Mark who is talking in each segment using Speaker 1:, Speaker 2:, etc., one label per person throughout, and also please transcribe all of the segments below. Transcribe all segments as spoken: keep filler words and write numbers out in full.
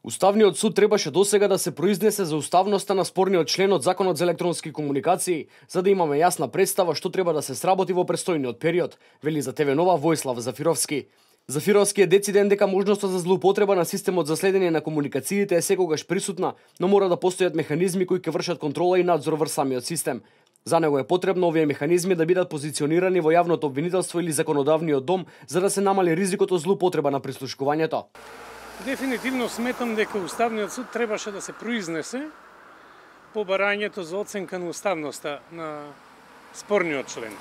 Speaker 1: Уставниот суд требаше досега да се произнесе за уставноста на спорниот член од Законот за електронски комуникации, за да имаме јасна представа што треба да се сработи во престојниот период, вели за Те Ве Нова Војслав Зафировски. Зафировски е дециден дека можноста за злоупотреба на системот за следење на комуникациите е секогаш присутна, но мора да постојат механизми кои ќе вршат контрола и надзор врз самиот систем. За него е потребно овие механизми да бидат позиционирани во јавното обвинителство или законодавниот дом, за да се намали ризикот од злоупотреба на прислушкувањето.
Speaker 2: Дефинитивно сметам дека Уставниот суд требаше да се произнесе по барањето за оценка на уставноста на спорниот член.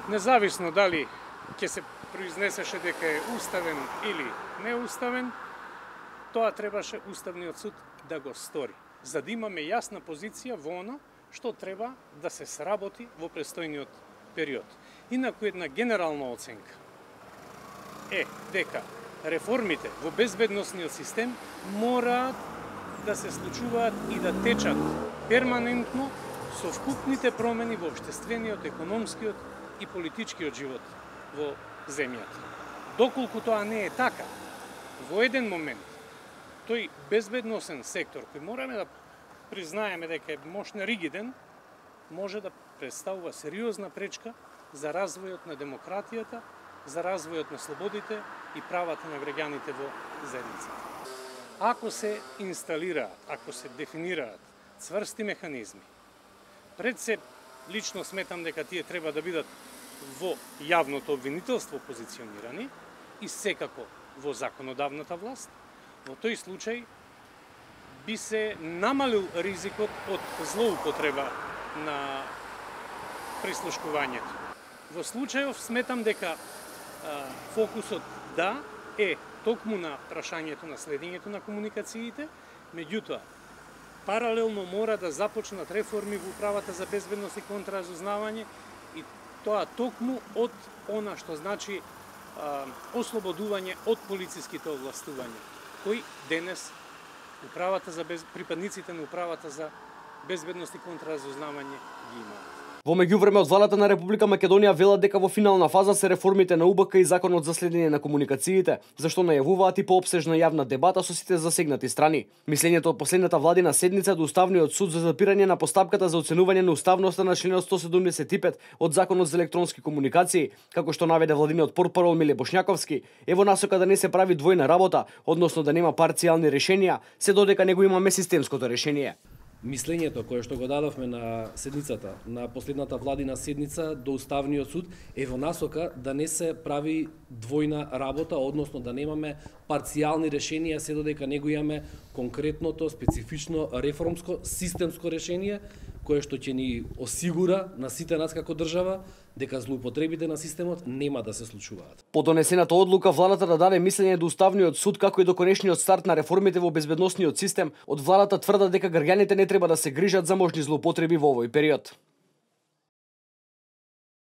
Speaker 2: Независно дали ќе се произнесеше дека е уставен или неуставен, тоа требаше Уставниот суд да го стори, за да имаме јасна позиција во она што треба да се сработи во престојниот период. Инаку една генерална оценка е дека реформите во безбедносниот систем мораат да се случуваат и да течат перманентно со вкупните промени во општествениот, економскиот и политичкиот живот во земјата. Доколку тоа не е така, во еден момент тој безбедносен сектор, кој мораме да признаеме дека е мощно ригиден, може да представува сериозна пречка за развојот на демократијата, за развојот на слободите и правата на граѓаните во заедницата. Ако се инсталираат, ако се дефинираат цврсти механизми, пред се лично сметам дека тие треба да бидат во јавното обвинителство позиционирани и секако во законодавната власт, во тој случај би се намалил ризикот од злоупотреба на прислушкувањето. Во случајов сметам дека а, фокусот да е токму на прашањето на следењето на комуникациите, меѓутоа паралелно мора да започнат реформи во управата за безбедност и контраразузнавање и тоа токму од она што значи а, ослободување од полициските овластувања, кои денес управата за без... припадниците на управата за безбедност и контраразузнавање ги имаат.
Speaker 1: Во меѓувреме од владата на Република Македонија велат дека во финална фаза се реформите на У Б К и Законот за следење на комуникациите, зашто најавуваат и поопсежна јавна дебата со сите засегнати страни. Мислењето од последната владина седница до Уставниот суд за запирање на постапката за оценување на уставноста на членот сто седумдесет и пет од Законот за електронски комуникации, како што наведе владиниот портпарол Миле Бошњаковски, е во насока да не се прави двојна работа, односно да нема парцијални решенија, се додека него имаме системското решение.
Speaker 3: Мислењето кое што го дадовме на седницата, на последната владина седница до Уставниот суд е во насока да не се прави двојна работа, односно да немаме парцијални решенија, се додека него имаме конкретното, специфично, реформско, системско решение, кое што ќе ни осигура на сите нас како држава дека злоупотребите на системот нема да се случуваат.
Speaker 1: По донесената одлука владата да даде мислење до Уставниот суд како и до конечниот старт на реформите во безбедносниот систем, од владата тврдат дека граѓаните не треба да се грижат за можни злоупотреби во овој период.